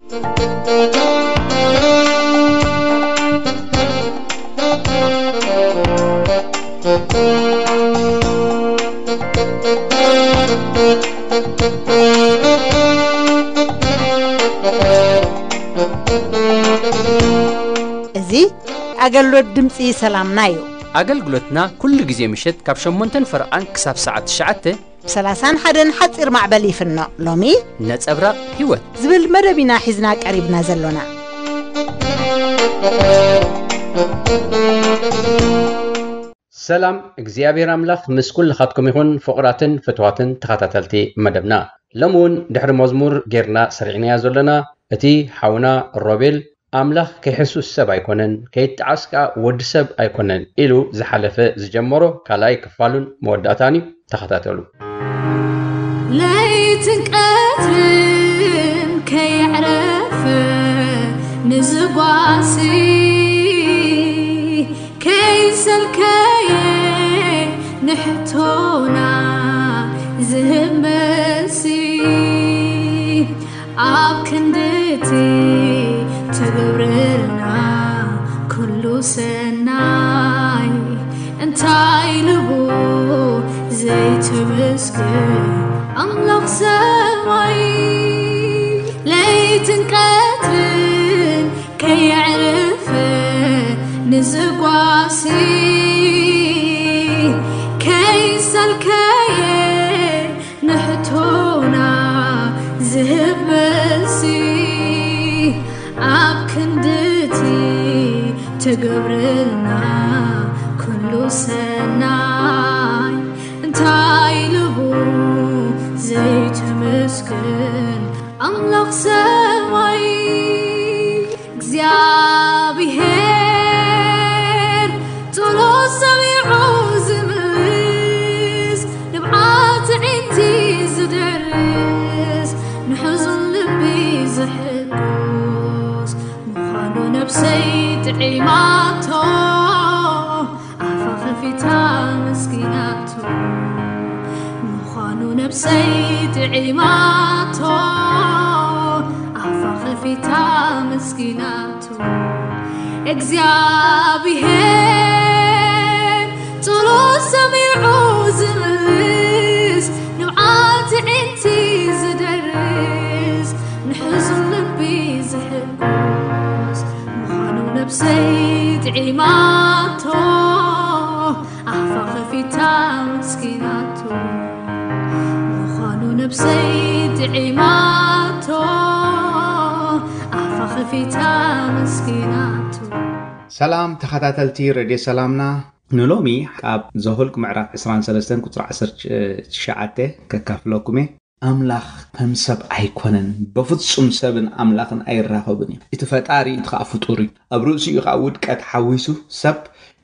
እዚ ኣገልግሎት ድምፂ ሰላምና እዩ። ኣገልግሎትና ኩሉ ግዜ ምሸት ካብ ሸሞንተን ፈረቓን ክሳብ ሰዓት ትሽዓተ ብ ሰላሳን ሓደን ሓፂር ማዕበል ይፍኖ። ሎሚ ነጸብራቕ ህይወት ዝብል መደብ ኢና ሒዝና ቀሪብና ዘሎና። ሰላም እግዚኣብሔር ኣምላኽ ምስ ኩልኻትኩም ይኹን። ፍቑራትን ፍትዋትን ተኸታተልቲ መደብና፣ ሎሚ እውን ድሕሪ መዝሙር ጌርና ሰሪዕናያ ዘሎና፣ እቲ ሓውና ሮቤል ኣምላኽ ከይሕሱስ ሰብ ኣይኮነን፣ ከይጠዓስ ከኣ ወዲ ሰብ ኣይኮነን ኢሉ ዝሓለፈ ዝጀመሮ ካልኣይ ክፋሉን መወዳእታን እዩ። ተኸታተሉ። ለይትን ቀትርን ከየዕረፈ ንዝጓሲ ከይሰልከየ ንሕቶና ዝህብ መልሲ ኣብ ክንድቲ ትገብረልና ኩሉ ሰናይ እንታይ ልቡ ዘይትምስክር ኣምላኽ ሰማይ ለይትን ቀትርን ከየዕርፍ ንዝጓሲ ከይሰልከየ ንሕቶና ዝህብ መልሲ ኣብ ክንድቲ ትገብርልና ኩሉ ሰናይ እንታይ ልቡ ዘይትምስክር ኣምላኽ ሰማይ እግዚኣብሔር ጸሎት ሰሚዑ ዝምልስ ንብዓት ኣዒንቲ ዝደርስ ንሕዙን ልቢ ዝሕጉስ ምዃኑ ነብሰይ ጥዒማቶ ኣፋ ከፊታ መስኪናቶ ምዃኑ ነብሰይ ጥዒማቶ ኣፋ ከፊታ መስኪናቶ እግዚኣብሔር ጸሎት ሰሚዑ ዝምልስ ንብዓት ኣዒንቲ ዝደርስ ንሕዙን ልቢ ዝሕጉስ ምዃኑ ነብሰይ ጥዒማቶ ኣፋ ከፊታ መስኪናቶ ምዃኑ ነብሰይ ጥዒማቶ ኣፋ ከፊታ መስኪናቶ። ሰላም ተኸታተልቲ ሬድዮ ሰላምና፣ ንሎሚ ኣብ ዘሁልቅ ምዕራፍ ዕስራን ሰለስተን ቁጽሪ ዓሰርተ ትሽዓተ ከካፍለኩም እየ። ኣምላኽ ከም ሰብ ኣይኮነን፣ በፍጹም ሰብን ኣምላኽን ኣይራኸቡን እዮም። እቲ ፈጣሪ እቲ ኸኣ ፍጡር እዩ። ኣብ ርእሲኡ ኸኣ ውድቀት ሓዊሱ ሰብ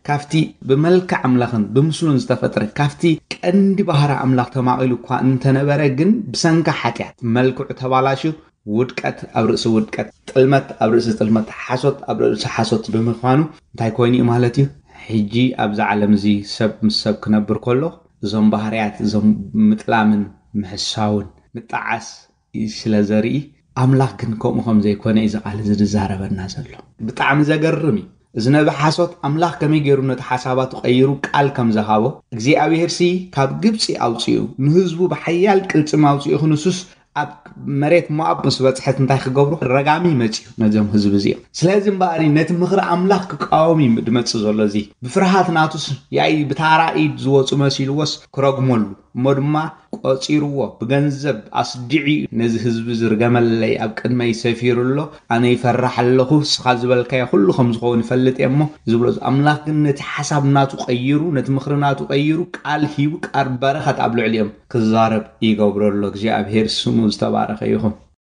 ካብቲ ብመልክዕ ኣምላኽን ብምስሉን ዝተፈጥረ ካብቲ ቀንዲ ባህሪ ኣምላኽ ተማቒሉ እኳ እንተነበረ ግን ብሰንካ ሓጢኣት መልክዑ ተባላሽዩ ውድቀት ኣብ ርእሲ ውድቀት፣ ጥልመት ኣብ ርእሲ ጥልመት፣ ሓሶት ኣብ ርእሲ ሓሶት ብምዃኑ እንታይ ኮይኑ እዩ ማለት እዩ? ሕጂ ኣብዚ ዓለም እዚ ሰብ ምስ ሰብ ክነብር ከሎ እዞም ባህርያት እዞም ምጥላምን ምሕሳውን ምጣዓስ ስለ ዘርኢ ኣምላኽ ግን ከምኡ ከም ዘይኮነ እዩ እዚ ቃል እዚ ዝዛረበና ዘሎ። ብጣዕሚ ዘገርም እዩ። እዚ ነቢ ሓሶት ኣምላኽ ከመይ ገይሩ ነቲ ሓሳባቱ ቀይሩ ቃል ከም ዝሃቦ እግዚኣብሔር ሲ ካብ ግብፂ ኣውፅኡ ንህዝቡ ብሓያል ቅልፅም ኣውፅኡ ክንሱስ ኣብ መሬት ሞኣብ ምስ በፅሐት እንታይ ክገብሩ ረጋሚ መፅዩ ነዞም ህዝቢ እዚኦም። ስለዚ እምበኣሪ ነቲ ምኽሪ ኣምላኽ ክቃወም እዩ ድመፅእ ዘሎ። እዚ ብፍርሃት ናቱስ ያኢ ብታራ ኢድ ዝወፁ መሲልዎስ ክረግመሉ እሞ ድማ ቆፂርዎ ብገንዘብ ኣስዲዑ እዩ ነዚ ህዝቢ ዝርገመለይ ኣብ ቅድመይ ሰፊሩ ኣሎ ኣነ ይፈራሕ ኣለኹ እስኻ ዝበልካዮ ኩሉ ከም ዝኸውን ይፈልጥ እየ እሞ ዝብሎ ኣምላኽ ግን ነቲ ሓሳብ ናቱ ቀይሩ ነቲ ምኽሪ ናቱ ቀይሩ ቃል ሂቡ ቃል በረኸት ኣብ ልዕሊኦም ክዛረብ ይገብሮ ኣሎ እግዚኣብሔር ስሙ ዝተባረኸ ይኹን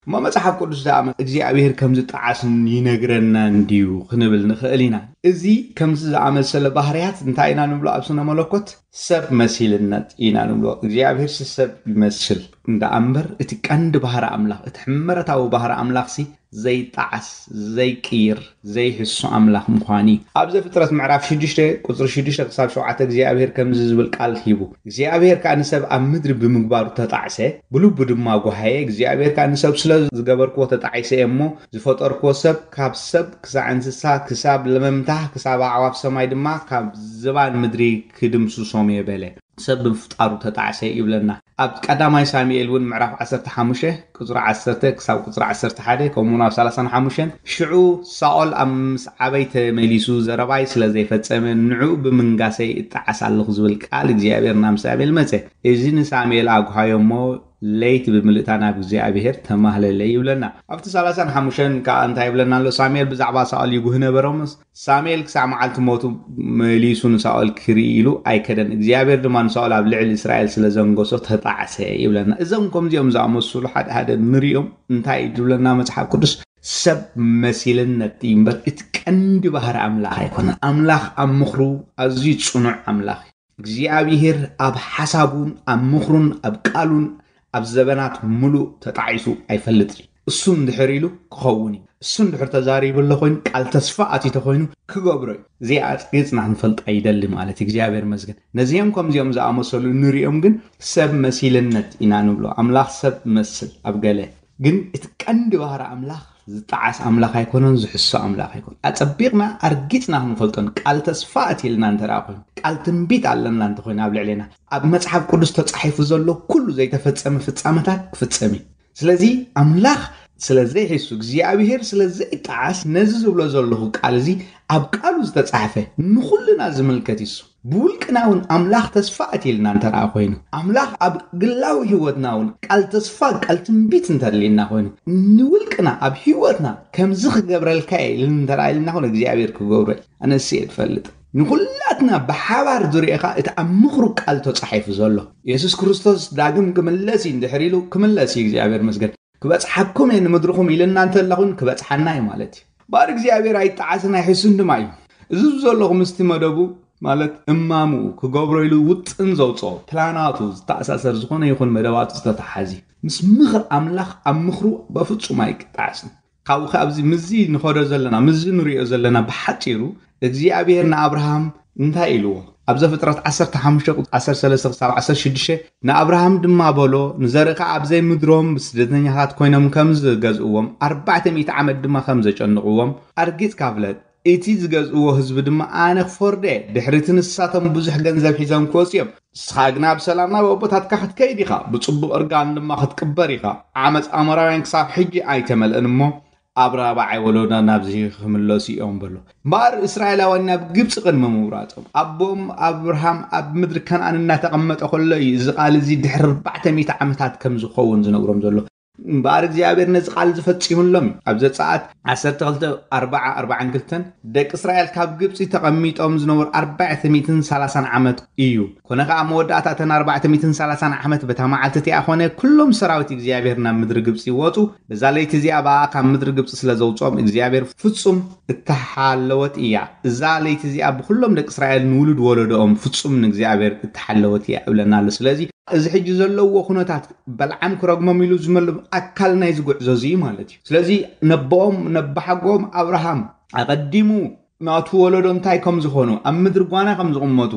እሞ መጽሓፍ ቅዱስ ዝኣመ እግዚኣብሔር ከም ዝጠዓስን ይነግረና እንድዩ ክንብል ንኽእል ኢና። እዚ ከምዚ ዝኣመሰለ ባህርያት እንታይ ኢና ንብሎ ኣብ ስነ መለኮት? ሰብ መሲልነት ኢና ንብሎ። እግዚኣብሔር ሲ ሰብ ይመስል እንዳ ኣምበር፣ እቲ ቀንዲ ባህሪ ኣምላኽ፣ እቲ ሕመረታዊ ባህሪ ኣምላኽ ሲ ዘይጣዓስ፣ ዘይቅይር፣ ዘይሕሱ ኣምላኽ ምዃን እዩ። ኣብ ዘፍጥረት ምዕራፍ ሽዱሽተ ቁፅሪ ሽዱሽተ ክሳብ ሸውዓተ እግዚኣብሔር ከምዚ ዝብል ቃል ሂቡ። እግዚኣብሔር ከኣ ንሰብ ኣብ ምድሪ ብምግባሩ ተጣዕሰ፣ ብልቡ ድማ ጓሃየ። እግዚኣብሔር ከኣ ንሰብ ስለ ዝገበርክዎ ተጣዒሰ እየ እሞ ዝፈጠርክዎ ሰብ ካብ ሰብ ክሳዕ እንስሳ ክሳብ ለመምታ ክሳብ ኣዕዋፍ ሰማይ ድማ ካብ ዝባን ምድሪ ክድምስሶም እየ በለ። ሰብ ብምፍጣሩ ተጣዕሰ ይብለና። ኣብ ቀዳማይ ሳሙኤል እውን ምዕራፍ ዓሰርተ ሓሙሽተ ቁፅሪ ዓሰርተ ክሳብ ቁፅሪ ዓሰርተ ሓደ ከምኡ እውን ኣብ ሰላሳን ሓሙሽተን ሽዑ ሳኦል ኣብ ምስ ዓበይ ተመሊሱ ዘረባይ ስለ ዘይፈጸመ ንዕኡ ብምንጋሰይ እጣዓስ ኣለኹ ዝብል ቃል እግዚኣብሔር ናብ ሳሙኤል መጸ። እዚ ንሳሙኤል ኣጉሃዮ እሞ ለይቲ ብምልእታ ናብ እግዚኣብሔር ተማህለለ ይብለና። ኣብቲ ሰላሳን ሓሙሽተን ከዓ እንታይ ይብለና ኣሎ? ሳሙኤል ብዛዕባ ሳኦል ይጉህ ነበረ እሞ ሳሙኤል ክሳዕ መዓልቲ ሞቱ መሊሱ ንሳኦል ክርኢ ኢሉ ኣይከደን። እግዚኣብሔር ድማ ንሳኦል ኣብ ልዕሊ እስራኤል ስለ ዘንገሶ ተጣዕሰ ይብለና። እዞም ከምዚኦም ዝኣመሰሉ ሓደ ሓደ ንሪኦም እንታይ እዩ ዝብለና መጽሓፍ ቅዱስ? ሰብ መሲልነት እዩ እምበር እቲ ቀንዲ ባህሪ ኣምላኽ ኣይኮነን። ኣምላኽ ኣብ ምኽሩ ኣዝዩ ጽኑዕ ኣምላኽ እዩ። እግዚኣብሔር ኣብ ሓሳቡን ኣብ ምኽሩን ኣብ ቃሉን ኣብ ዘበናት ምሉእ ተጣዒሱ ኣይፈልጥን እዩ። እሱ እንድሕር ኢሉ ክኸውን እዩ። እሱ እንድሕር ተዛሪቡ ኣሎ ኮይኑ ቃል ተስፋ ኣትዩ ተኮይኑ ክገብሮ እዩ። እዚኣ ኣጽቂጽና ክንፈልጣ ይደሊ ማለት እዩ። እግዚኣብሔር መስገን። ነዚኦም ከምዚኦም ዝኣመሰሉ ንሪኦም ግን ሰብ መሲልነት ኢና ንብሎ። ኣምላኽ ሰብ መስል ኣብ ገለ ግን እቲ ቀንዲ ባህሪ ኣምላኽ ዝጠዓስ ኣምላኽ ኣይኮነን፣ ዝሕሶ ኣምላኽ ኣይኮነን። ኣጸቢቕና ኣርጊጽና ክንፈልጦን ቃል ተስፋ ኣትየልና እንተ ደኣ ኮይኑ፣ ቃል ትንቢት ኣለና እንተ ኮይኑ ኣብ ልዕሌና፣ ኣብ መጽሓፍ ቅዱስ ተጻሒፉ ዘሎ ኩሉ ዘይተፈጸመ ፍጻመታት ክፍጸም እዩ። ስለዚ ኣምላኽ ስለ ዘይሕሱ፣ እግዚኣብሔር ስለ ዘይጠዓስ፣ ነዚ ዝብሎ ዘለኹ ቃል እዚ ኣብ ቃሉ ዝተጻሕፈ ንኹልና ዝምልከት እዩ። ብውልቅና እውን ኣምላኽ ተስፋ ኣትየልና እንተ ደኣ ኮይኑ፣ ኣምላኽ ኣብ ግላዊ ህይወትና እውን ቃል ተስፋ፣ ቃል ትንቢት እንተልየና ኮይኑ፣ ንውልቅና ኣብ ህይወትና ከምዚ ክገብረልካ እየ ኢልን እንተ ደኣ ኢልና ኮይኑ እግዚኣብሔር ክገብሮ እዩ። ኣነስ እየ ትፈልጥ። ንኹላትና ብሓባር ዝርእኻ እቲ ኣብ ምኽሩ ቃል ተጻሒፉ ዘሎ የሱስ ክርስቶስ ዳግም ክምለስ እዩ እንድሕር ኢሉ ክምለስ እዩ እግዚኣብሔር መስገን። ክበጽሓኩም እየ ንምድርኹም ኢልና እንተለኹን ክበጽሓና እዩ ማለት እዩ። ባር እግዚኣብሔር ኣይጠዓስን ኣይሕሱን ድማ እዩ። እዚ ዘለኹ ምስቲ መደቡ ማለት እማሙ ክገብሮ ኢሉ ውጥን ዘውፅኦ ፕላናቱ ዝተኣሳሰር ዝኾነ ይኹን መደባቱ ዝተተሓዚ ምስ ምኽር ኣምላኽ ኣብ ምኽሩ በፍጹም ኣይጣዓስን። ካብኡ ከ ኣብዚ ምዚ ንኸዶ ዘለና ምዚ ንሪኦ ዘለና ብሓፂሩ እግዚኣብሔር ንኣብርሃም እንታይ ኢልዎ? ኣብ ዘፍጥረት ዓሰርተ ሓሙሽተ ቁፅሪ ዓሰርተ ሰለስተ ክሳብ ዓሰርተ ሽዱሽተ ንኣብርሃም ድማ በሎ፣ ንዘርእኻ ኣብዘይ ምድሮም ስደተኛታት ኮይኖም ከም ዝገዝእዎም ኣርባዕተ ሚእቲ ዓመት ድማ ከም ዘጨንቕዎም ኣርጊጽካ ፍለጥ። እቲ ዝገዝእዎ ህዝቢ ድማ ኣነ ክፈርዶ እየ። ድሕሪ እቲ ንሳቶም ብዙሕ ገንዘብ ሒዞም ክወፁ እዮም። ንስኻ ግና ብሰላም ናብ ኣቦታትካ ክትከይድ ኢኻ፣ ብጽቡቕ እርጋን ድማ ክትቅበር ኢኻ። ዓመፅ ኣሞራውያን ክሳብ ሕጂ ኣይተመልአን እሞ ኣብ ራብዓይ ወለዶ ናብዚ ክምለሱ እዮም በሎ። እምበኣር እስራኤላውያን ናብ ግብፂ ቅድሚ ምውራጾም ኣቦም ኣብርሃም ኣብ ምድሪ ከነኣን እናተቐመጠ ከሎ እዩ እዚ ቃል እዚ ድሕሪ ኣርባዕተ ሚእቲ ዓመታት ከም ዝኸውን ዝነግሮም ዘሎ። እምበኣር እግዚኣብሔር ነዚ ቃል ዝፈጺሙሎም እዩ። ኣብ ዘጸኣት ዓሰርተ ክልተ ኣርባዓ ኣርባዓን ክልተን ደቂ እስራኤል ካብ ግብጺ ተቐሚጦም ዝነበሩ ኣርባዕተ ሚእትን ሰላሳን ዓመት እዩ። ኮነ ኸኣ መወዳእታ እተን ኣርባዕተ ሚእትን ሰላሳን ዓመት በታ መዓልቲ እቲኣ ኾነ ኩሎም ሰራዊት እግዚኣብሔር ናብ ምድሪ ግብጺ ወጹ። በዛ ለይቲ እዚኣ ብኣ ካብ ምድሪ ግብጺ ስለ ዘውጽኦም እግዚኣብሔር ፍጹም እተሓለወት እያ። እዛ ለይቲ እዚኣ ብኹሎም ደቂ እስራኤል ንውሉድ ወለዶኦም ፍጹም ንእግዚኣብሔር እተሓለወት እያ እብለና ኣሎ። ስለዚ እዚ ሕጂ ዘለዎ ኩነታት በልዓም ክረግሞም ኢሉ ዝመሉ ኣካል ናይዚ ጉዕዞ እዚ ማለት እዩ። ስለዚ ነቦኦም ነባሓጎኦም ኣብርሃም ኣቐዲሙ ናቱ ወለዶ እንታይ ከም ዝኾኑ ኣብ ምድሪ ጓና ከም ዝቕመጡ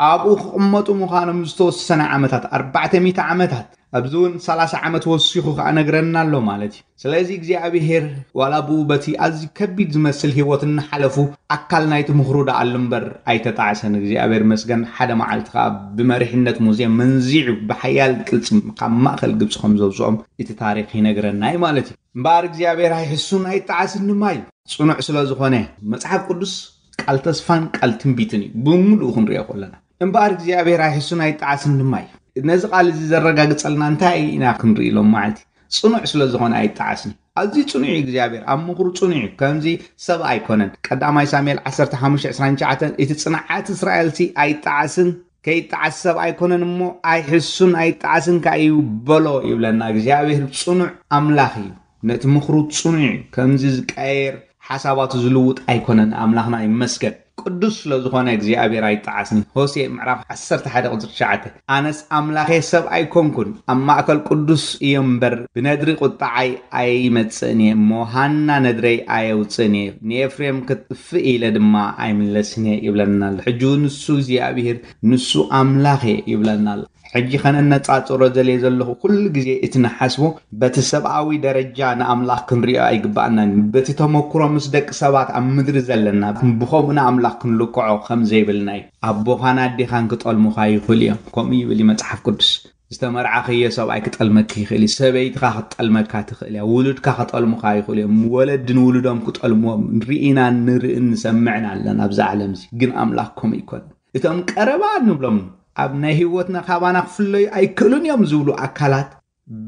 ኣብኡ ክቕመጡ ምዃኖም ዝተወሰነ ዓመታት ኣርባዕተ ሚእቲ ዓመታት ኣብዚ እውን ሰላሳ ዓመት ወሲኹ ከኣ ነግረና ኣሎ ማለት እዩ። ስለዚ እግዚኣብሔር ዋላ ብኡ በቲ ኣዝዩ ከቢድ ዝመስል ህይወት እናሓለፉ ኣካል ናይቲ ምኽሩ ደኣሉ እምበር ኣይተጣዕሰን። እግዚኣብሔር መስገን ሓደ መዓልቲ ከኣ ብመሪሕነት ሙሴ መንዚዑ ብሓያል ቅልጽም ካብ ማእከል ግብፂ ከም ዘውፅኦም እቲ ታሪኽ ይነግረና እዩ ማለት እዩ። እምበኣር እግዚኣብሔር ኣይሕሱን ኣይጣዓስን ድማ እዩ። ጽኑዕ ስለ ዝኾነ መጽሓፍ ቅዱስ ቃል ተስፋን ቃል ትንቢትን እዩ ብምሉኡ ክንሪኦ ከለና። እምበኣር እግዚኣብሔር ኣይሕሱን ኣይጣዓስን ድማ እዩ። ነዚ ቃል እዚ ዘረጋግጸልና እንታይ ኢና ክንርኢ ኢሎም መዓልቲ? ጽኑዕ ስለ ዝኾነ ኣይጣዓስን እዩ። ኣዝዩ ጽኑዕ እዩ እግዚኣብሔር፣ ኣብ ምኽሩ ጽኑዕ እዩ። ከምዚ ሰብ ኣይኮነን። ቀዳማይ ሳሙኤል ዓሰርተ ሓሙሽተ ዕስራን ትሽዓተን እቲ ጽንዓት እስራኤልሲ ኣይጣዓስን ከይጣዓስ ሰብ ኣይኮነን እሞ ኣይሕሱን ኣይጣዓስን ከኣ እዩ በሎ ይብለና። እግዚኣብሔር ጽኑዕ ኣምላኽ እዩ። ነቲ ምኽሩ ጽኑዕ እዩ። ከምዚ ዝቀየር ሓሳባቱ ዝልውጥ ኣይኮነን። ኣምላኽና ይመስገን። ቅዱስ ስለ ዝኾነ እግዚኣብሔር ኣይጠዓስን። ሆሴዕ ምዕራፍ ዓሰርተ ሓደ ቁፅሪ ትሽዓተ፣ ኣነስ ኣምላኸ ሰብ ኣይኮንኩን፣ ኣብ ማእከል ቅዱስ እየ እምበር፣ ብነድሪ ቁጣዓይ ኣይመጽእን እየ እሞ፣ ሃና ነድረይ ኣየውፅእን እየ፣ ንኤፍሬም ክጥፍእ ኢለ ድማ ኣይምለስን እየ ይብለና ኣሎ። ሕጂ እውን ንሱ እግዚኣብሔር፣ ንሱ ኣምላኸ ይብለና ኣሎ። ሕጂ ከነነጻጽሮ ዘልየ ዘለኹ፣ ኩሉ ግዜ እቲ ንሓስቦ በቲ ሰብኣዊ ደረጃ ንኣምላኽ ክንሪኦ ኣይግባኣናን እዩ። በቲ ተመክሮ ምስ ደቂ ሰባት ኣብ ምድሪ ዘለና፣ ብኸምኡ ንኣምላኽ ክንልክዖ ከም ዘይብልና እዩ። ኣቦኻን ኣዴኻን ክጠልሙኻ ይኽእሉ እዮም። ከምኡ ይብል እዩ መጽሓፍ ቅዱስ። ዝተመርዓኽዮ ሰብኣይ ክጠልመኪ ይኽእል እዩ። ሰበይትኻ ክትጠልመካ ትኽእል እያ። ውሉድካ ክጠልሙኻ ይኽእሉ እዮም። ወለዲ ንውሉዶም ክጠልምዎም ርኢናን ንርእን ንሰምዕን ኣለና ኣብዚ ዓለም እዚ። ግን ኣምላኽ ከምኡ ኣይኮነን። እቶም ቀረባ ንብሎም ኣብ ናይ ህይወትና ካባና ክፍለዩ ኣይክእሉን እዮም ዝብሉ ኣካላት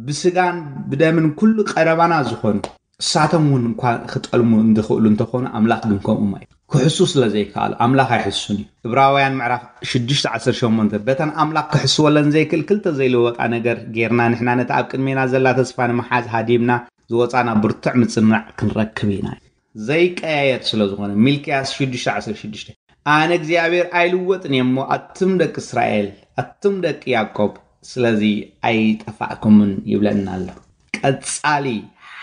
ብስጋን ብደምን ኩሉ ቀረባና ዝኾኑ እሳቶም እውን እንኳ ክጠልሙ እንድኽእሉ እንተኾኑ ኣምላኽ ግን ከምኡ ማይ ክሕሱ ስለ ዘይከኣሉ ኣምላኽ ኣይሕሱን እዩ። እብራውያን ምዕራፍ ሽዱሽተ ዓሰርተ ሸሞንተ በተን ኣምላኽ ክሕስወለን ዘይክእል ክልተ ዘይልወጣ ነገር ጌርና ንሕና ነቲ ኣብ ቅድሜና ዘላ ተስፋ ንምሓዝ ሃዲምና ዝወፃና ብርቱዕ ምጽናዕ ክንረክብ ኢና። ዘይቀያየር ስለ ዝኾነ ሚልክያስ ሽዱሽተ ዓሰርተ ሽዱሽተ ኣነ እግዚኣብሔር ኣይልወጥን እየ እሞ ኣቱም ደቂ እስራኤል ኣቱም ደቂ ያዕቆብ ስለዚ ኣይጠፋእኩምን ይብለና ኣሎ። ቀጻሊ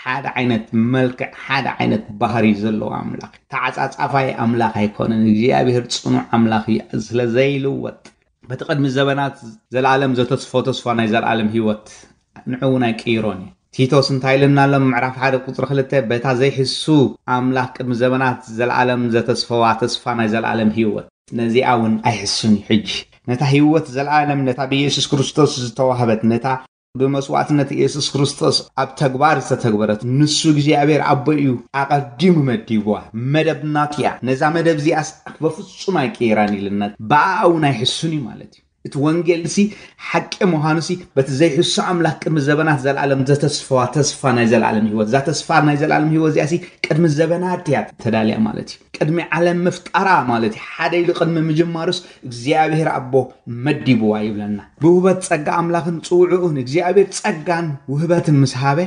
ሓደ ዓይነት መልክዕ ሓደ ዓይነት ባህሪ ዘለዎ ኣምላኽ ተዓጻጻፋይ ኣምላኽ ኣይኮነን። እግዚኣብሔር ጽኑዕ ኣምላኽ እዩ ስለ ዘይልወጥ በቲ ቅድሚ ዘበናት ዘለኣለም ዘተስፎ ተስፋ ናይ ዘለኣለም ህይወት ንዑ እውን ኣይቅይሮን እዩ። ቲቶስ እንታይ ኢልና ኣሎ? ምዕራፍ ሓደ ቁፅሪ ክልተ በታ ዘይሕሱ ኣምላኽ ቅድሚ ዘበናት ዘለኣለም ዘተስፈዋ ተስፋ ናይ ዘለኣለም ህይወት ነዚኣ እውን ኣይሕሱን እዩ። ሕጂ ነታ ህይወት ዘለኣለም ነታ ብኢየሱስ ክርስቶስ ዝተዋህበት ነታ ብመስዋዕትነት ኢየሱስ ክርስቶስ ኣብ ተግባር ዝተተግበረት ንሱ እግዚኣብሔር ኣቦ እዩ ኣቐዲሙ መዲብዋ መደብ ናቱ እያ። ነዛ መደብ እዚኣስ በፍጹም ኣይቅይራን ኢልና ብኣኣ እውን ኣይሕሱን እዩ ማለት እዩ። እቲ ወንጌል ሲ ሓቂ ምዃኑ ሲ በቲ ዘይሕሱ ኣምላኽ ቅድሚ ዘበናት ዘለኣለም ዘተስፈዋ ተስፋ ናይ ዘለኣለም ህይወት እዛ ተስፋ ናይ ዘለኣለም ህይወት እዚኣ ሲ ቅድሚ ዘበናት እያ ተዳልያ ማለት እዩ። ቅድሚ ዓለም ምፍጣራ ማለት እዩ። ሓደ ኢሉ ቅድሚ ምጅማሩስ እግዚኣብሔር ኣቦ መዲብዋ ይብለና። ብውህበት ጸጋ ኣምላኽን ጽውዕኡን እግዚኣብሔር ጸጋን ውህበትን ምስ ሃበ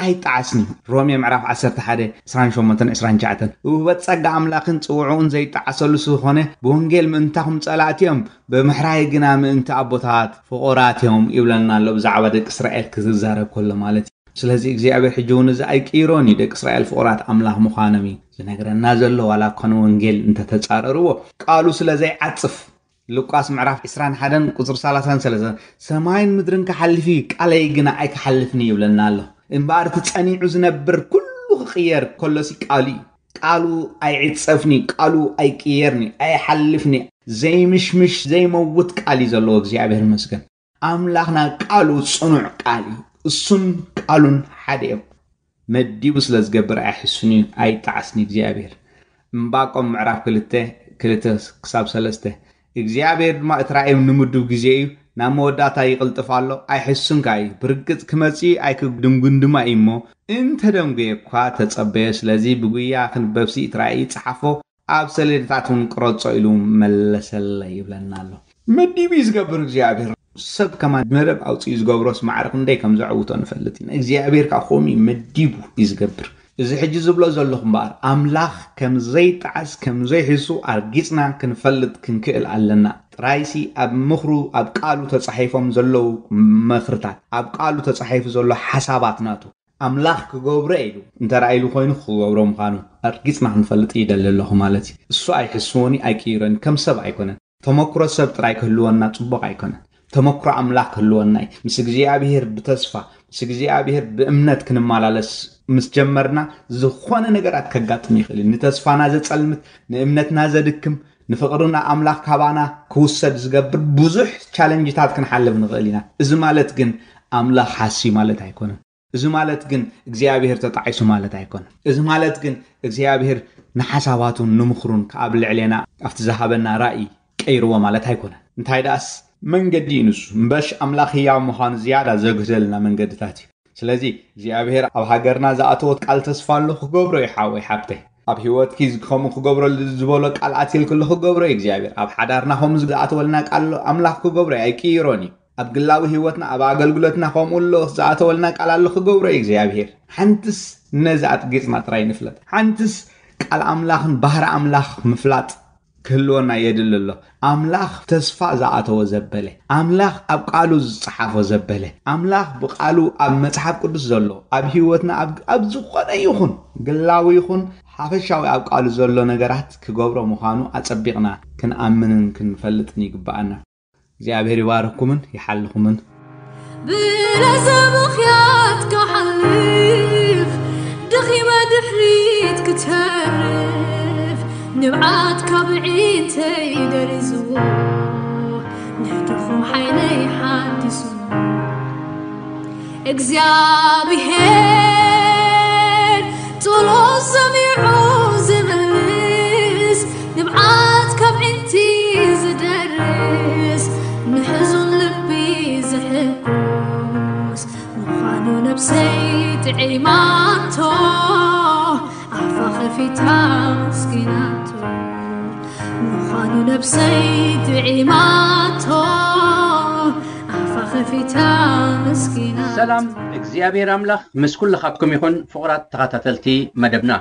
ኣይጠዓስን እዩ። ሮሜ ምዕራፍ ዓሰርተ ሓደ ዕስራን ሸሞንተን ዕስራን ትሽዓተን ውህበት ጸጋ ኣምላኽን ጽውዕኡን ዘይጠዓሰሉ ዝኾነ ብወንጌል ምእንታኹም ጸላእቲ እዮም፣ ብምሕራይ ግና ምእንቲ ኣቦታት ፍቑራት እዮም ይብለና ኣሎ። ብዛዕባ ደቂ እስራኤል ክዝዛረብ ከሎ ማለት እዩ። ስለዚ እግዚኣብሔር ሕጂ እውን እዚ ኣይቅይሮን እዩ። ደቂ እስራኤል ፍቑራት ኣምላኽ ምዃኖም እዩ ዝነግረና ዘሎ። ዋላ እኳ ንወንጌል እንተተጻረርዎ ቃሉ ስለ ዘይዓጽፍ ሉቃስ ምዕራፍ ዕስራን ሓደን ቁፅሪ ሰላሳን ሰለስተን ሰማይን ምድርን ክሓልፍ እዩ ቃለይ ግና ኣይክሓልፍን እዩ ይብለና ኣሎ። እምበኣር እቲ ጸኒዑ ዝነብር ኩሉ ክቕየር ከሎሲ ቃሉ እዩ። ቃሉ ኣይዕጸፍን እዩ። ቃሉ ኣይቅየርን እዩ። ኣይሓልፍን እዩ። ዘይምሽምሽ ዘይመውት ቃል እዩ ዘለዎ። እግዚኣብሔር ይመስገን። ኣምላኽና ቃሉ ጽኑዕ ቃል እዩ። እሱን ቃሉን ሓደ እዮም። መዲቡ ስለ ዝገብር ኣይሕሱን እዩ ኣይጠዓስን እግዚኣብሔር። እምባቆም ምዕራፍ ክልተ ክልተ ክሳብ ሰለስተ እግዚኣብሔር ድማ እቲ ራእዮም ንምዱብ ግዜ እዩ፣ ናብ መወዳእታ ይቕልጥፍ ኣሎ። ኣይሕሱንካ እዩ፣ ብርግጽ ክመጽእ እዩ ኣይክድንጉን ድማ እዩ እሞ እንተደንጉየ እኳ ተጸበዮ። ስለዚ ብጉያ ክንበብሲ እቲ ራእይ ጸሓፎ፣ ኣብ ሰሌዳታት እውን ቅረጾ ኢሉ መለሰለይ ይብለና ኣሎ። መዲቡ እዩ ዝገብር እግዚኣብሔር። ሰብ ከማን መደብ ኣውፅኡ ዝገብሮስ ማዕረ ክንደይ ከም ዘዕውቶ ንፈልጥ ኢና። እግዚኣብሔር ከዓ ከምኡ እዩ መዲቡ እዩ ዝገብር። እዚ ሕጂ ዝብሎ ዘለኹ እምበኣር ኣምላኽ ከም ዘይጠዓስ ከም ዘይሕሱ ኣርጊፅና ክንፈልጥ ክንክእል ኣለና። ጥራይሲ ኣብ ምኽሩ ኣብ ቃሉ ተፃሒፎም ዘለዉ ምኽርታት ኣብ ቃሉ ተፃሒፉ ዘሎ ሓሳባት ናቱ ኣምላኽ ክገብሮ ኢሉ እንተረኣይሉ ኮይኑ ክገብሮ ምዃኑ ኣርጊፅና ክንፈልጥ ይደሊ ኣለኹ ማለት እዩ። እሱ ኣይሕስወኒ ኣይቅይረኒ ከም ሰብ ኣይኮነን። ተመክሮ ሰብ ጥራይ ክህልወና ፅቡቕ ኣይኮነን። ተመክሮ ኣምላኽ ክህልወና እዩ። ምስ እግዚኣብሔር ብተስፋ ምስ እግዚኣብሔር ብእምነት ክንመላለስ ምስ ጀመርና ዝኾነ ነገራት ከጋጥም ይኽእል እዩ። ንተስፋና ዘፀልምት ንእምነትና ዘድክም ንፍቕርና ኣምላኽ ካባና ክውሰድ ዝገብር ብዙሕ ቻለንጅታት ክንሓልፍ ንኽእል ኢና። እዚ ማለት ግን ኣምላኽ ሓስዩ ማለት ኣይኮነን። እዚ ማለት ግን እግዚኣብሔር ተጣዒሱ ማለት ኣይኮነን። እዚ ማለት ግን እግዚኣብሔር ንሓሳባቱን ንምኽሩን ኣብ ልዕሌና ኣብቲ ዝሃበና ራእይ ቀይርዎ ማለት ኣይኮነን። እንታይ ደኣስ መንገዲ እዩ ንሱ። እምበሽ ኣምላኽ ህያው ምዃኑ ዝያዳ ዘግህደልና መንገድታት እዩ። ስለዚ እግዚኣብሔር ኣብ ሃገርና ዝኣተወት ቃል ተስፋ ኣሎ ክገብሮ እዩ ሓወይ ሓብተይ። ኣብ ህይወትኪ ከምኡ ክገብረሉ ዝበሎ ቃል ኣትየልክሉ ክገብሮ እዩ እግዚኣብሔር። ኣብ ሓዳርና ከምኡ ዝኣተወልና ቃል ኣሎ ኣምላኽ ክገብሮ እዩ ኣይቅይሮን እዩ። ኣብ ግላዊ ህይወትና ኣብ ኣገልግሎትና ከምኡ ኣሎ ዝኣተወልና ቃል ኣሎ ክገብሮ እዩ እግዚኣብሔር። ሓንትስ ነዚ ኣጥጊጽና ጥራይ ንፍለጥ። ሓንትስ ቃል ኣምላኽን ባህሪ ኣምላኽ ምፍላጥ ክህልወና የድሊ ኣሎ። ኣምላኽ ተስፋ ዝኣተወ ዘበለ፣ ኣምላኽ ኣብ ቃሉ ዝጸሓፎ ዘበለ፣ ኣምላኽ ብቃሉ ኣብ መጽሓፍ ቅዱስ ዘሎ ኣብ ህይወትና ኣብ ኣብ ዝኾነ ይኹን ግላዊ ይኹን ሓፈሻዊ ኣብ ቃሉ ዘሎ ነገራት ክገብሮ ምዃኑ ኣጸቢቕና ክንኣምንን ክንፈልጥን ይግብኣና። እግዚኣብሔር ይባርኩምን ይሓልኹምን። ብለዘ ምኽያት ክሓልፍ ደኺመ ድሕሪት ክተርፍ ንብዓት ካብ ዒንተይ ደሪዝዎ ናይ ድኹም ሓይለይ ሓዲሱ እግዚኣብሔር ጸሎት ሰሚዑ ዝመልስ ንብዓት ካብ ዒንቲ ዝደርስ ንሕዙን ልቢ ዝሕጉስ ምዃኑ ነብሰይ ጥዒማቶ ኣፋ ከፊታ ኣመስጊናቶ ምዃኑ ነብሰይ ጥዒማቶ ኣፋ ከፊታ ኣመስጊናቶ። ሰላም እግዚኣብሔር ኣምላኽ ምስ ኩልኻትኩም ይኹን። ፍቑራት ተኸታተልቲ መደብና፣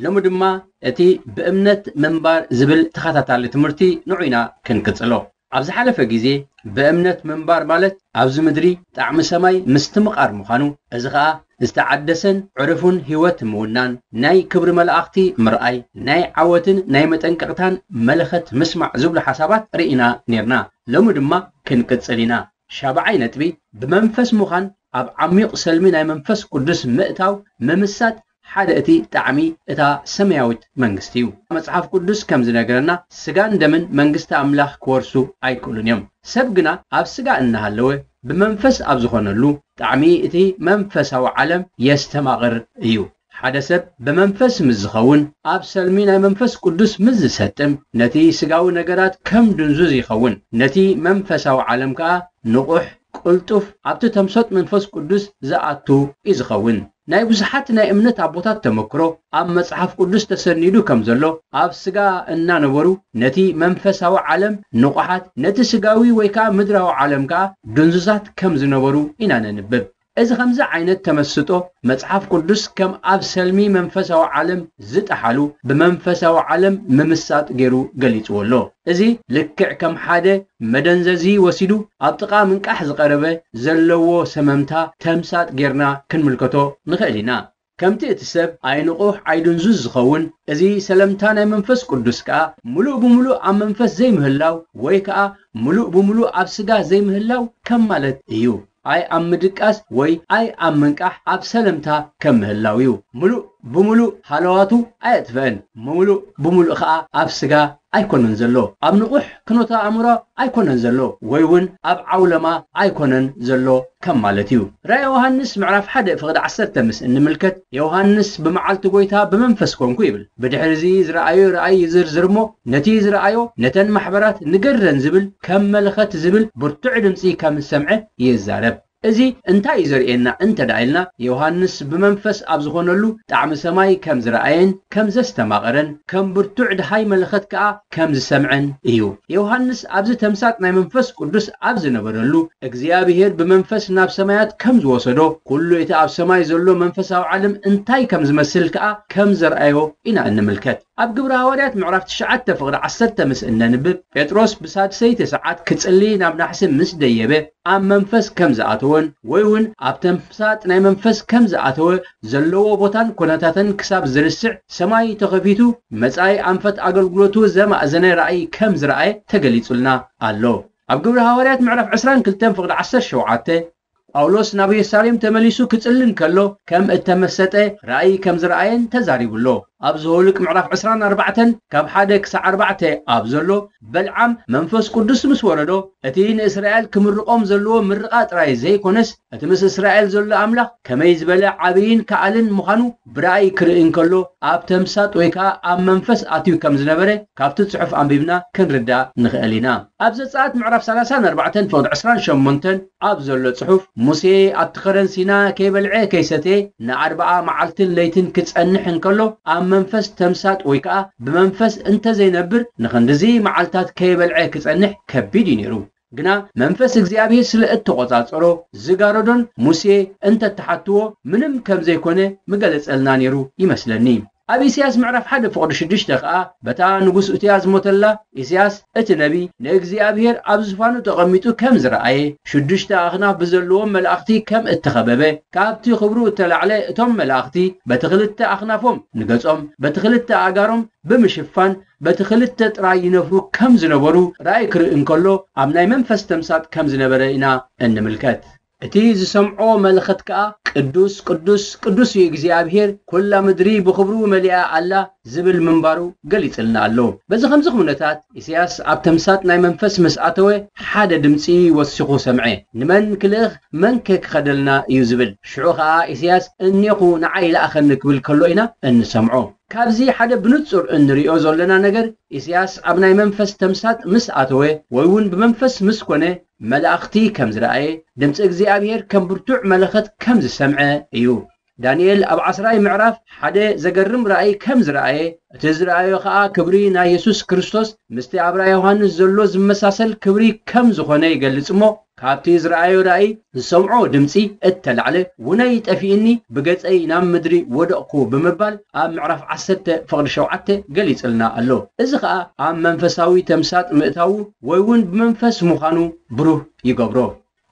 ሎሚ ድማ እቲ ብእምነት ምንባር ዝብል ተኸታታሊ ትምህርቲ ንዑ ኢና ክንቅጽሎ። ኣብ ዝሓለፈ ግዜ ብእምነት ምንባር ማለት ኣብዚ ምድሪ ጣዕሚ ሰማይ ምስትምቓር ምዃኑ፣ እዚ ኸኣ ዝተዓደሰን ዕሩፍን ህይወት ምውናን፣ ናይ ክብሪ መላእኽቲ ምርኣይ፣ ናይ ዓወትን ናይ መጠንቀቕታን መለኸት ምስማዕ ዝብሉ ሓሳባት ርኢና ኔርና። ሎሚ ድማ ክንቅጽል ኢና። ሻብዓይ ነጥቢ፣ ብመንፈስ ምዃን ኣብ ዓሚቕ ሰልሚ ናይ መንፈስ ቅዱስ ምእታው፣ ምምሳጥ ሓደ እቲ ጣዕሚ እታ ሰማያዊት መንግስቲ እዩ። መጽሓፍ ቅዱስ ከም ዝነግረና ስጋን ደምን መንግስቲ ኣምላኽ ክወርሱ ኣይክእሉን እዮም። ሰብ ግና ኣብ ስጋ እናሃለወ ብመንፈስ ኣብ ዝኾነሉ ጣዕሚ እቲ መንፈሳዊ ዓለም የስተማቕር እዩ። ሓደ ሰብ ብመንፈስ ምስ ዝኸውን ኣብ ሰልሚ ናይ መንፈስ ቅዱስ ምስ ዝሰጥም ነቲ ስጋዊ ነገራት ከም ድንዙዝ ይኸውን። ነቲ መንፈሳዊ ዓለም ከኣ ንቑሕ ቅልጡፍ ኣብቲ ተምሰጥ መንፈስ ቅዱስ ዝኣቱ እዩ ዝኸውን። ናይ ብዙሓት ናይ እምነት ኣቦታት ተመክሮ ኣብ መጽሓፍ ቅዱስ ተሰኒዱ ከም ዘሎ ኣብ ስጋ እናነበሩ ነቲ መንፈሳዊ ዓለም ንቑሓት ነቲ ስጋዊ ወይ ከዓ ምድራዊ ዓለም ከዓ ድንዙዛት ከም ዝነበሩ ኢና ነንብብ። እዚ ከምዚ ዓይነት ተመስጦ መጽሓፍ ቅዱስ ከም ኣብ ሰልሚ መንፈሳዊ ዓለም ዝጠሓሉ ብመንፈሳዊ ዓለም ምምሳጥ ገይሩ ገሊጽዎ ኣሎ። እዚ ልክዕ ከም ሓደ መደንዘዚ ወሲዱ ኣብ ጥቓ ምንቃሕ ዝቐረበ ዘለዎ ሰመምታ ተምሳጥ ጌርና ክንምልከቶ ንኽእል ኢና። ከምቲ እቲ ሰብ ኣይንቑሕ ኣይድንዙዝ ዝኸውን፣ እዚ ሰለምታ ናይ መንፈስ ቅዱስ ከኣ ምሉእ ብምሉእ ኣብ መንፈስ ዘይምህላው ወይ ከኣ ምሉእ ብምሉእ ኣብ ስጋ ዘይምህላው ከም ማለት እዩ። ኣይ ኣብ ምድቃስ ወይ ኣይ ኣብ ምንቃሕ ኣብ ሰለምታ ከም ምህላው እዩ። ምሉእ ብምሉእ ሃለዋቱ ኣየጥፍአን፣ ምሉእ ብምሉእ ከኣ ኣብ ስጋ ኣይኮነን ዘሎ፣ ኣብ ንቑሕ ክኖተ ኣእምሮ ኣይኮነን ዘሎ፣ ወይ እውን ኣብ ዓውለማ ኣይኮነን ዘሎ ከም ማለት እዩ። ራእይ ዮሃንስ ምዕራፍ ሓደ ፍቕዲ ዓሰርተ ምስ እንምልከት፣ ዮሃንስ ብመዓልቲ ጎይታ ብመንፈስ ኮንኩ ይብል። ብድሕሪ እዚ ዝረኣዮ ራእይ ይዝርዝር እሞ፣ ነቲ ዝረኣዮ ነተን ማሕበራት ንገረን ዝብል ከም መለኸት ዝብል ብርቱዕ ድምፂ ከም ዝሰምዐ ይዛረብ። እዚ እንታይ እዩ ዘርእየና እንተ ደኣ ኢልና፣ ዮሃንስ ብመንፈስ ኣብ ዝኾነሉ ጣዕሚ ሰማይ ከም ዝረኣየን ከም ዘስተማቐረን ከም ብርቱዕ ድሃይ መለኸት ከኣ ከም ዝሰምዐን እዩ። ዮሃንስ ኣብዚ ተምሳጥ ናይ መንፈስ ቅዱስ ኣብ ዝነበረሉ እግዚኣብሔር ብመንፈስ ናብ ሰማያት ከም ዝወሰዶ፣ ኩሉ እቲ ኣብ ሰማይ ዘሎ መንፈሳዊ ዓለም እንታይ ከም ዝመስል ከኣ ከም ዘርኣዮ ኢና እንምልከት። ኣብ ግብሪ ሃዋርያት ምዕራፍ ትሽዓተ ፍቕዲ ዓሰርተ ምስ እነንብብ፣ ጴጥሮስ ብሳድሰይቲ ሰዓት ክጽሊ ናብ ናሕሲ ምስ ደየበ፣ ኣብ መንፈስ ከም ዝኣተወን ወይ እውን ኣብ ተምሳጥ ናይ መንፈስ ከም ዝኣተወ ዘለዎ ቦታን ኮነታተን ክሳብ ዝርስዕ ሰማይ ተኸፊቱ መጻኢ ኣንፈት ኣገልግሎቱ ዘማእዘነ ራእይ ከም ዝረኣየ ተገሊጹልና ኣሎ። ኣብ ግብሪ ሃዋርያት ምዕራፍ ዕስራን ክልተን ፍቕዲ ዓሰርተ ሸውዓተ ጳውሎስ ናብ የሩሳሌም ተመሊሱ ክጽሊ እንከሎ ከም እተመሰጠ ራእይ ከም ዝረኣየን ተዛሪቡ ኣሎ። ኣብ ዘውልቅ ምዕራፍ ዕስራን ኣርባዕተን ካብ ሓደ ክሳዕ ኣርባዕተ ኣብ ዘሎ በልዓም መንፈስ ቅዱስ ምስ ወረዶ እቲ ንእስራኤል ክምርቖም ዘለዎ ምርቓ ጥራይ ዘይኮነስ እቲ ምስ እስራኤል ዘሎ ኣምላኽ ከመይ ዝበለ ዓብይን ከኣልን ምዃኑ ብራእይ ክርኢ እንከሎ ኣብ ተምሳጥ ወይ ከኣ ኣብ መንፈስ ኣትዩ ከም ዝነበረ ካብቲ ጽሑፍ ኣንቢብና ክንርዳእ ንኽእል ኢና። ኣብ ዘጸኣት ምዕራፍ ሰላሳን ኣርባዕተን ፍቕዲ ዕስራን ሸሞንተን ኣብ ዘሎ ጽሑፍ፣ ሙሴ ኣብቲ ኸረን ሲና ከይበልዐ ከይሰተየ ንኣርብዓ መዓልትን ለይትን ክጸንሕ እንከሎ ኣብ መንፈስ ተምሳጥ ወይ ከኣ ብመንፈስ እንተዘይነብር ንኽንድዚ መዓልታት ከይበልዐ ክጸንሕ ከቢድ እዩ ነይሩ። ግና መንፈስ እግዚኣብሔር ስለ እተቖጻጸሮ ዝጋረዶን ሙሴ እንተተሓትዎ ምንም ከም ዘይኮነ ምገለጸልና ነይሩ ይመስለኒ። ኣብ ኢሳያስ ምዕራፍ ሓደ ፍቕዲ ሽዱሽተ ከኣ፣ በታ ንጉስ እትያ ዝሞተላ፣ ኢሳያስ እቲ ነቢ ንእግዚኣብሔር ኣብ ዝፋኑ ተቐሚጡ ከም ዝረኣየ፣ ሽዱሽተ ኣኽናፍ ብዘለዎም መላእኽቲ ከም እተኸበበ፣ ካብቲ ክብሩ እተላዕለ እቶም መላእኽቲ በቲ ክልተ ኣኽናፎም ንገጾም፣ በቲ ክልተ ኣእጋሮም ብምሽፋን፣ በቲ ክልተ ጥራይ ይነፍሩ ከም ዝነበሩ ራእይ ክርኢ እንከሎ፣ ኣብ ናይ መንፈስ ተምሳጥ ከም ዝነበረ ኢና እንምልከት። እቲ ዝሰምዖ መለኸት ከኣ፣ "ቅዱስ፣ ቅዱስ፣ ቅዱስ እዩ እግዚኣብሔር፣ ኩላ ምድሪ ብኽብሩ መሊኣ ኣላ" ዝብል ምንባሩ ገሊጽልና ኣሎ። በዚ ከምዚ ኩነታት፣ ኢሳያስ ኣብ ተምሳጥ ናይ መንፈስ ምስ ኣተወ፣ ሓደ ድምጺ ወሲኹ ሰምዐ። ንመን ክልእኽ፣ መን ከ ክኸደልና እዩ ዝብል። ሽዑ ከኣ ኢሳያስ፣ "እኔኹ፣ ንዓይ ለኣኸኒ" ክብል ከሎ ኢና እንሰምዖ። ካብዚ ሓደ ብንጹር እንርእዮ ዘለና ነገር፣ ኢሳያስ ኣብ ናይ መንፈስ ተምሳጥ ምስ ኣተወ፣ ወይ እውን ብመንፈስ ምስ ኮነ፣ መላእኽቲ ከም ዝረኣየ፣ ድምጺ እግዚኣብሔር ከም ብርቱዕ መለኸት ከም ዝሰምዐ እዩ። ዳንኤል ኣብ ዓስራይ ምዕራፍ ሓደ ዘገርም ራእይ ከም ዝረኣየ፣ እቲ ዝረኣዮ ኸኣ ክብሪ ናይ የሱስ ክርስቶስ ምስቲ ኣብ ራእይ ዮሃንስ ዘሎ ዝመሳሰል ክብሪ ከም ዝኾነ ይገልጽ እሞ፣ ካብቲ ዝረኣዮ ራእይ ዝሰምዖ ድምጺ እተላዕለ፣ "ውነይ ጠፊእኒ፣ ብገጸይ ናብ ምድሪ ወደቕኩ" ብምባል ኣብ ምዕራፍ ዓሰርተ ፍቕዲ ሸውዓተ ገሊጽልና ኣሎ። እዚ ኸኣ ኣብ መንፈሳዊ ተምሳጥ ምእታዉ ወይ እውን ብመንፈስ ምዃኑ ብሩህ ይገብሮ።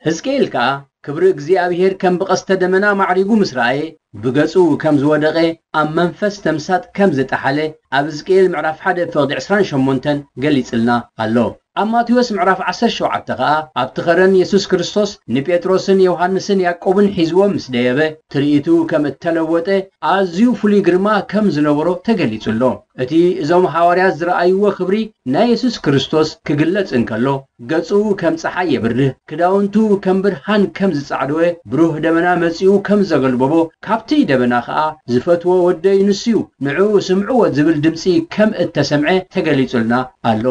ሕዝቅኤል ከኣ ክብሪ እግዚኣብሔር ከም ብቐስተ ደመና ማዕሪጉ ምስ ረኣየ፣ ብገጹ ከም ዝወደቐ ኣብ መንፈስ ተምሳጥ ከም ዝጠሓለ ኣብ ሕዝቅኤል ምዕራፍ ሓደ ፍቕዲ ዕስራን ሸሞንተን ገሊጽልና ኣሎ። ኣብ ማቴዎስ ምዕራፍ ዓሰርተ ሸውዓተ ከኣ ኣብቲ ኸረን የሱስ ክርስቶስ ንጴጥሮስን ዮሃንስን ያዕቆብን ሒዝዎም ምስ ደየበ፣ ትርኢቱ ከም እተለወጠ፣ ኣዝዩ ፍሉይ ግርማ ከም ዝነበሮ ተገሊጹ ኣሎ። እቲ እዞም ሃዋርያት ዝረኣይዎ ክብሪ ናይ የሱስ ክርስቶስ ክግለጽ እንከሎ፣ ገጹ ከም ጸሓይ የብርህ፣ ክዳውንቱ ከም ብርሃን ከም ዝጻዕደወ፣ ብሩህ ደበና መጺኡ ከም ዘገልበቦ፣ ካብቲ ደበና ኸኣ፣ "ዝፈትዎ ወደይ ንሱዩ፣ ንዕኡ ስምዕዎ" ዝብል ድምጺ ከም እተሰምዐ ተገሊጹልና ኣሎ።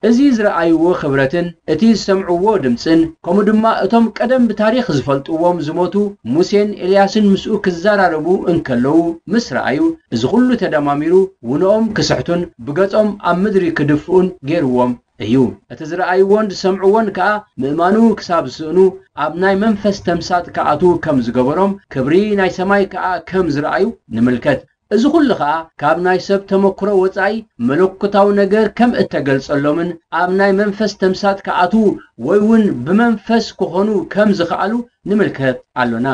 እዚ ዝረኣይዎ ክብረትን እቲ ዝሰምዕዎ ድምጽን፣ ከምኡ ድማ እቶም ቀደም ብታሪኽ ዝፈልጥዎም ዝሞቱ ሙሴን ኤልያስን ምስኡ ክዘራረቡ እንከለዉ ምስ ረኣዩ፣ እዚ ኹሉ ተደማሚሩ ውኖኦም ክስሕቱን ብገጾም ኣብ ምድሪ ክድፍኡን ገይርዎም እዩ። እቲ ዝረኣይዎን ዝሰምዕዎን ከኣ ምእማኑ ክሳብ ዝስእኑ ኣብ ናይ መንፈስ ተምሳጥ ክኣትዉ ከም ዝገበሮም፣ ክብሪ ናይ ሰማይ ከኣ ከም ዝረኣዩ ንምልከት። እዚ ኹሉ ኸኣ ካብ ናይ ሰብ ተመክሮ ወጻኢ መለኮታዊ ነገር ከም እተገልጸሎምን ኣብ ናይ መንፈስ ተምሳጥ ክኣትዉ ወይ እውን ብመንፈስ ክኾኑ ከም ዝኸኣሉ ንምልከት ኣሎና።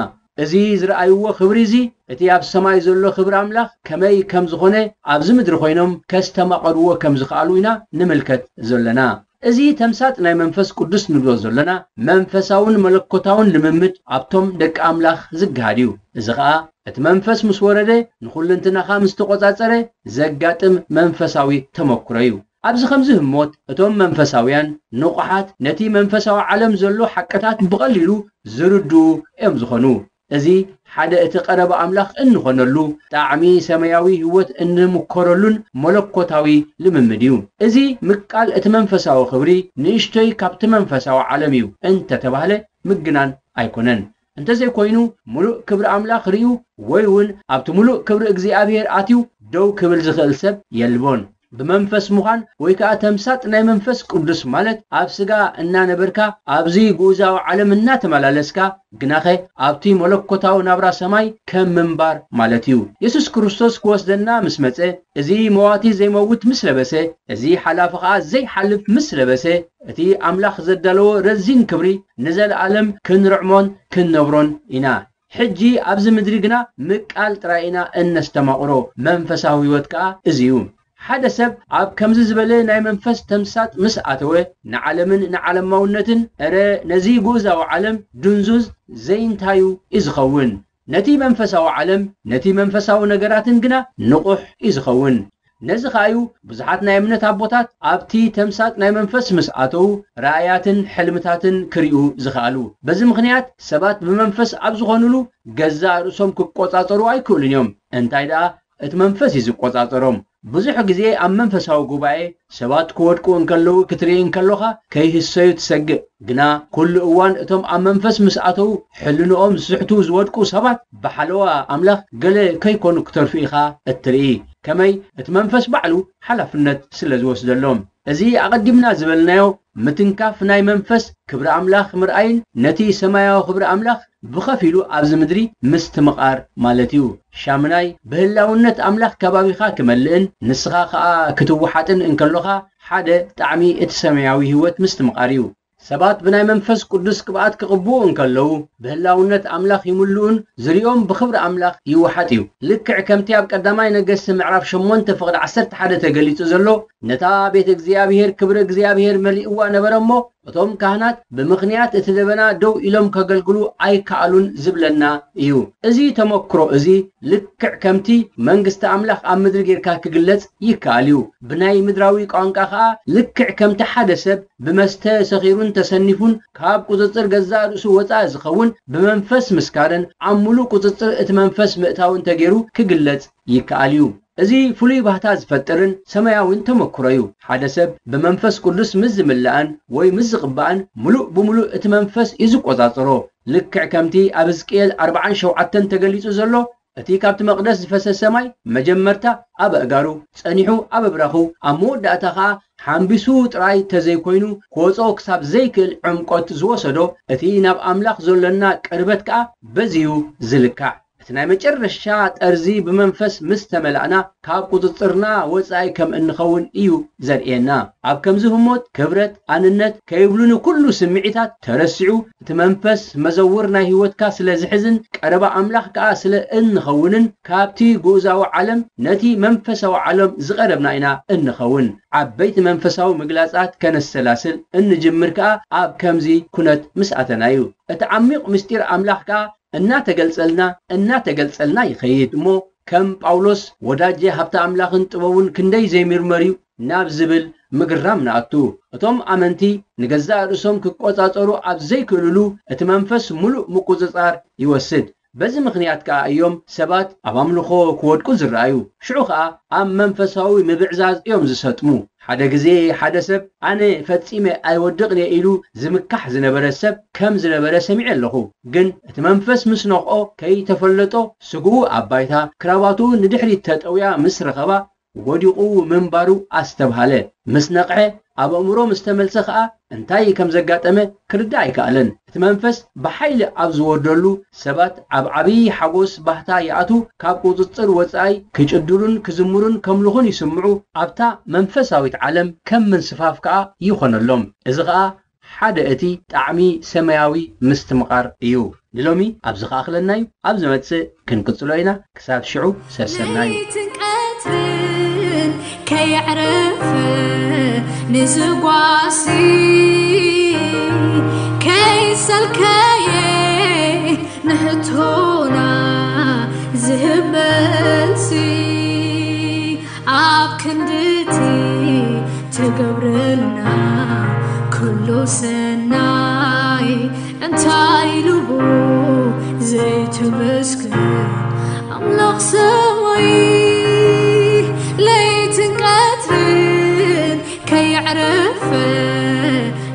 እዚ ዝረኣይዎ ክብሪ እዚ፣ እቲ ኣብ ሰማይ ዘሎ ክብሪ ኣምላኽ ከመይ ከም ዝኾነ፣ ኣብዚ ምድሪ ኮይኖም ከስተማቐርዎ ከም ዝኸኣሉ ኢና ንምልከት ዘለና። እዚ ተምሳጥ ናይ መንፈስ ቅዱስ ንብሎ ዘለና መንፈሳውን መለኮታውን ልምምድ ኣብቶም ደቂ ኣምላኽ ዝገሃድ እዩ። እዚ ኸኣ እቲ መንፈስ ምስ ወረደ ንኹልንትናኻ ምስ ተቖጻጸረ ዘጋጥም መንፈሳዊ ተመክሮ እዩ። ኣብዚ ከምዚ ህሞት እቶም መንፈሳውያን ንቑሓት ነቲ መንፈሳዊ ዓለም ዘሎ ሓቅታት ብቐሊሉ ዝርድኡ እዮም ዝኾኑ። እዚ ሓደ እቲ ቀረባ ኣምላኽ እንኾነሉ፣ ጣዕሚ ሰማያዊ ህይወት እንምኮረሉን መለኮታዊ ልምምድ እዩ። እዚ ምቃል እቲ መንፈሳዊ ክብሪ ንእሽቶይ ካብቲ መንፈሳዊ ዓለም እዩ እንተተባህለ ምግናን ኣይኮነን። እንተዘይኮይኑ፣ ምሉእ ክብሪ ኣምላኽ ርእዩ ወይ እውን ኣብቲ ምሉእ ክብሪ እግዚኣብሔር ኣትዩ ደው ክብል ዝኽእል ሰብ የልቦን። ብመንፈስ ምዃን ወይ ከኣ ተምሳጥ ናይ መንፈስ ቅዱስ ማለት ኣብ ስጋ እናነበርካ ኣብዚ ግኡዛዊ ዓለም እናተመላለስካ ግናኸ ኣብቲ መለኮታዊ ናብራ ሰማይ ከም ምንባር ማለት እዩ። የሱስ ክርስቶስ ክወስደና ምስ መጸ፣ እዚ መዋቲ ዘይመውት ምስ ለበሰ፣ እዚ ሓላፊ ኸኣ ዘይሓልፍ ምስ ለበሰ፣ እቲ ኣምላኽ ዘዳለዎ ረዚን ክብሪ ንዘለኣለም ክንርዕሞን ክንነብሮን ኢና። ሕጂ ኣብዚ ምድሪ ግና ምቃል ጥራይ ኢና እነስተማቕሮ፣ መንፈሳዊ ህይወት ከኣ እዚ እዩ። ሓደ ሰብ ኣብ ከምዚ ዝበለ ናይ መንፈስ ተምሳጥ ምስ ኣተወ፣ ንዓለምን ንዓለማውነትን፣ እረ ነዚ ግኡዛዊ ዓለም ድንዙዝ ዘይንታዩ እዩ ዝኸውን። ነቲ መንፈሳዊ ዓለም፣ ነቲ መንፈሳዊ ነገራትን ግና ንቑሕ እዩ ዝኸውን። ነዚ ኸኣ እዩ ብዙሓት ናይ እምነት ኣቦታት ኣብቲ ተምሳጥ ናይ መንፈስ ምስ ኣተዉ ራእያትን ሕልምታትን ክርእዩ ዝኸኣሉ። በዚ ምኽንያት ሰባት ብመንፈስ ኣብ ዝኾኑሉ ገዛእ ርእሶም ክቆጻጸሩ ኣይክእሉን እዮም። እንታይ ደኣ እቲ መንፈስ እዩ ዝቆጻጸሮም። ብዙሕ ግዜ ኣብ መንፈሳዊ ጉባኤ ሰባት ክወድቁ እንከለዉ ክትርኢ እንከሎኻ ከይህሰዩ ትሰግእ። ግና ኩሉ እዋን እቶም ኣብ መንፈስ ምስ ኣተዉ ሕልንኦም ዝስሕቱ ዝወድቁ ሰባት ብሓለዋ ኣምላኽ ገለ ከይኮኑ ክተርፉ ኢኻ እትርኢ። ከመይ? እቲ መንፈስ ባዕሉ ሓላፍነት ስለ ዝወስደሎም። እዚ ኣቐዲምና ዝበልናዮ ምትንካፍ ናይ መንፈስ ክብሪ ኣምላኽ ምርኣይን ነቲ ሰማያዊ ክብሪ ኣምላኽ ብኸፊሉ ኣብዚ ምድሪ ምስትምቓር ማለት እዩ። ሻምናይ፣ ብህላውነት ኣምላኽ ከባቢኻ ክመልእን ንስኻ ኸኣ ክትወሓጥን እንከሎኻ ሓደ ጣዕሚ እቲ ሰማያዊ ህይወት ምስትምቓር እዩ። ሰባት ብናይ መንፈስ ቅዱስ ቅብኣት ክቕብኡ እንከለዉ ብህላውነት ኣምላኽ ይምልኡን ዝርኦም ብኽብሪ ኣምላኽ ይወሓጥ እዩ። ልክዕ ከምቲ ኣብ ቀዳማይ ነገስቲ ምዕራፍ ሸሞንተ ፍቕዲ ዓሰርተ ሓደ ተገሊጹ ዘሎ፣ ነታ ቤት እግዚኣብሔር ክብሪ እግዚኣብሔር መሊእዋ ነበረ እሞ እቶም ካህናት ብምኽንያት እቲ ደበና ደው ኢሎም ከገልግሉ ኣይከኣሉን ዝብለና እዩ። እዚ ተመክሮ እዚ ልክዕ ከምቲ መንግስቲ ኣምላኽ ኣብ ምድሪ ጌርካ ክግለጽ ይከኣል እዩ። ብናይ ምድራዊ ቋንቋ ኸኣ ልክዕ ከምቲ ሓደ ሰብ ብመስተ ሰኺሩን ተሰኒፉን ካብ ቁጽጽር ገዛእ ርእሱ ወጻኢ ዝኸውን ብመንፈስ ምስካርን ኣብ ምሉእ ቁጽጽር እቲ መንፈስ ምእታውን ተገይሩ ክግለጽ ይከኣል እዩ። እዚ ፍሉይ ባህታ ዝፈጥርን ሰማያውን ተመክሮ እዩ። ሓደ ሰብ ብመንፈስ ቅዱስ ምስ ዝምላእን ወይ ምስ ዝቕባእን ምሉእ ብምሉእ እቲ መንፈስ እዩ ዝቆጻጸሮ። ልክዕ ከምቲ ኣብ ሕዝቅኤል ኣርባዓን ሸውዓተን ተገሊጹ ዘሎ፣ እቲ ካብቲ መቕደስ ዝፈሰሰ ማይ መጀመርታ ኣብ ኣእጋሩ፣ ጸኒሑ ኣብ ኣብራኹ፣ ኣብ መወዳእታ ኸኣ ሓምቢሱ ጥራይ ተዘይኮይኑ ክወጽኦ ክሳብ ዘይክእል ዕምቆት ዝወሰዶ እቲ ናብ ኣምላኽ ዘሎና ቅርበት ከኣ በዚ እዩ ዝልካዕ። እቲ ናይ መጨረሻ ጠርዚ ብመንፈስ ምስ ተመላእና ካብ ቁጽጽርና ወጻኢ ከም እንኸውን እዩ ዘርእየና። ኣብ ከምዚ ህሞት ክብረት፣ ኣንነት ከይብሉ ንኩሉ ስምዒታት ተረሲዑ እቲ መንፈስ መዘውር ናይ ህይወትካ ስለ ዝሕዝን ቀረባ ኣምላኽ ከኣ ስለ እንኸውንን ካብቲ ግኡዛዊ ዓለም ነቲ መንፈሳዊ ዓለም ዝቐረብና ኢና እንኸውን። ዓበይቲ መንፈሳዊ ምግላጻት ከነሰላስል እንጅምር ከኣ ኣብ ከምዚ ኩነት ምስ ኣተና እዩ። እቲ ዓሚቕ ምስጢር ኣምላኽ ከኣ እናተገልጸልና እናተገልጸልና ይኸይድ እሞ ከም ጳውሎስ ወዳጄ ሃብቲ ኣምላኽን ጥበቡን ክንደይ ዘይምርመር እዩ ናብ ዝብል ምግራም ንኣቱ። እቶም ኣመንቲ ንገዛእ ርእሶም ክቆጻጸሩ ኣብ ዘይክእልሉ እቲ መንፈስ ምሉእ ምቁጽጻር ይወስድ። በዚ ምኽንያት ከኣ እዮም ሰባት ኣብ ኣምልኾ ክወድቁ ዝረኣዩ። ሽዑ ኸኣ ኣብ መንፈሳዊ ምብዕዛዝ እዮም ዝሰጥሙ። ሓደ ግዜ ሓደ ሰብ ኣነ ፈጺመ ኣይወድቕን እየ ኢሉ ዝምካሕ ዝነበረ ሰብ ከም ዝነበረ ሰሚዐ ኣለኹ። ግን እቲ መንፈስ ምስ ነኽኦ ከይተፈለጦ ስግኡ ኣብ ባይታ ክራባቱ ንድሕሪት ተጠውያ ምስ ረኸባ ወዲቑ ምንባሩ ኣስተብሃለ። ምስ ነቕሐ ኣብ ኣእምሮ ምስ ተመልሰ ኸኣ እንታይ ከም ዘጋጠመ ክርዳእ ኣይከኣለን። እቲ መንፈስ ብሓይሊ ኣብ ዝወርደሉ ሰባት ኣብ ዓብዪ ሓጎስ ባህታ ይኣትዉ፣ ካብ ቁጽጽር ወጻኢ ክጭድሩን ክዝምሩን ከምልኹን ይስምዑ፣ ኣብታ መንፈሳዊት ዓለም ከም ምንስፋፍ ከኣ ይኾነሎም። እዚ ኸኣ ሓደ እቲ ጣዕሚ ሰማያዊ ምስትምቓር እዩ። ንሎሚ ኣብዚ ከኣኽለና እዩ። ኣብ ዝመጽእ ክንቅጽሎ ኢና። ክሳብ ሽዑ ሰሰናዩ። ለይትን ቀትርን ከየዕረፈ ንዝጓሲ ከይሰልከየ ንሕቶና ዝህብ መልሲ ኣብ ክንድቲ ትገብረልና ኩሉ ሰናይ እንታይ ኢሉ ዘይትመስክር ኣምላኽ ሰማይ ለይትን ቀትርን ከየዕረፈ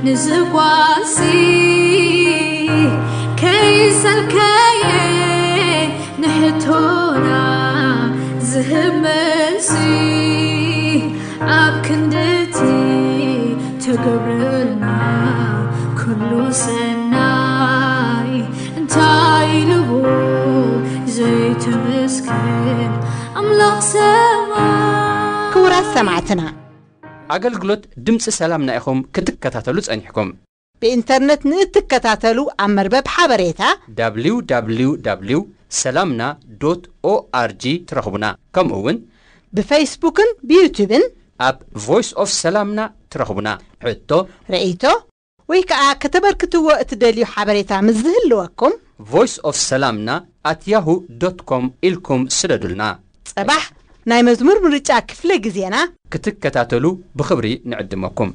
ንዝጓሲ ከይሰልከየ ንሕቶና ዝህብ መልሲ ኣብ ክንድቲ ትገብረልና ኩሉ ሰናይ እንታይ ኢሉ ዘይትመስክር ኣምላኽ ሰማይ። ክቡራት ሰማዕትና፣ ኣገልግሎት ድምፂ ሰላምና ኢኹም ክትከታተሉ ጸኒሕኩም። ብኢንተርነት ንእትከታተሉ ኣብ መርበብ ሓበሬታ www ሰላምና ዶት ኦኣርጂ ትረኽቡና። ከምኡ እውን ብፌስቡክን ብዩቱብን ኣብ ቮይስ ኦፍ ሰላምና ትረኽቡና። ሕቶ፣ ርእይቶ ወይ ከዓ ከተበርክትዎ እትደልዩ ሓበሬታ ምስ ዝህልወኩም ቮይስ ኦፍ ሰላምና ኣት ያሁ ዶት ኮም ኢልኩም ስደዱልና። ጸባሕ ናይ መዝሙር ምርጫ ክፍለ ግዜና ክትከታተሉ ብኽብሪ ንዕድመኩም።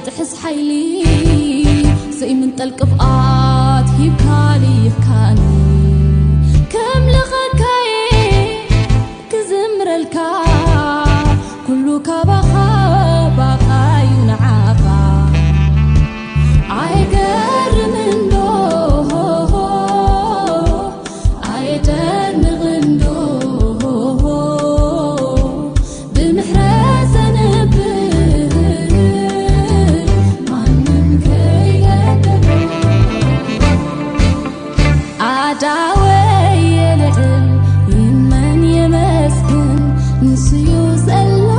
ጥሕስ ሓይሊ ዘይምንጠል ቅብኣት ሂብካ ልኢኽካኒ። ከምልኸካየ ክዝምረልካ ኩሉ ካባኻ ባኻዩ ንዓኻ። ኣይገርምን ዶ ኣየደንቕን ዶ ብምሕረት ዘንብል ማንም ከይገደሎ ኣዳወይ የልዕል ይመን የመስግን ንስዩ ዘላ